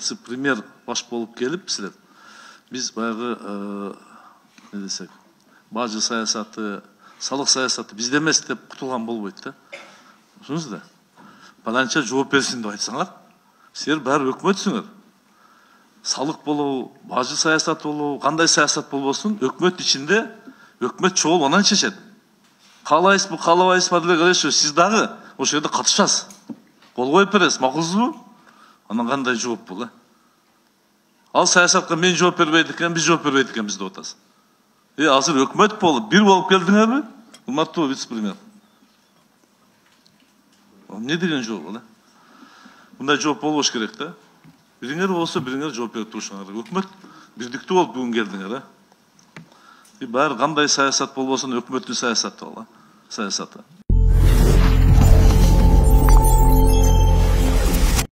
вице-премьер баш болуп келип силер биз баягы не десек бажы саясаты, салык саясаты бизде эмес деп кутулган болбойт да. Түшүндүңүз да? Баланча жооп берсин деп айтсаңар, силер баары өкмөтсүңөр. Салык болобу, бажы саясаты болобу, кандай саясат болбосун, өкмөт ичинде өкмөт чогул анан чечет. Каалайсызбы, каалабайсызбы деле келишип, сиз дагы ошол жерде катышасыз. Кол коюп бересиз, макулсузбу? Анан кандай жооп бул? Ал саясатка мен жооп бербейт экен, биз жооп бербейт экенбиз деп атасыз. Азыр өкмөт болуп, бир болуп келдиңерби? Урматтуу вице-премьер. Не деген жооп бул? Мындай жооп болбош керек да. Бириңер болсо бириңер жооп берип турушуңар керек. Өкмөт бирдиктүү болуп бүгүн келдиңер, баары кандай саясат болбосун өкмөттүн саясаты ал, саясаты.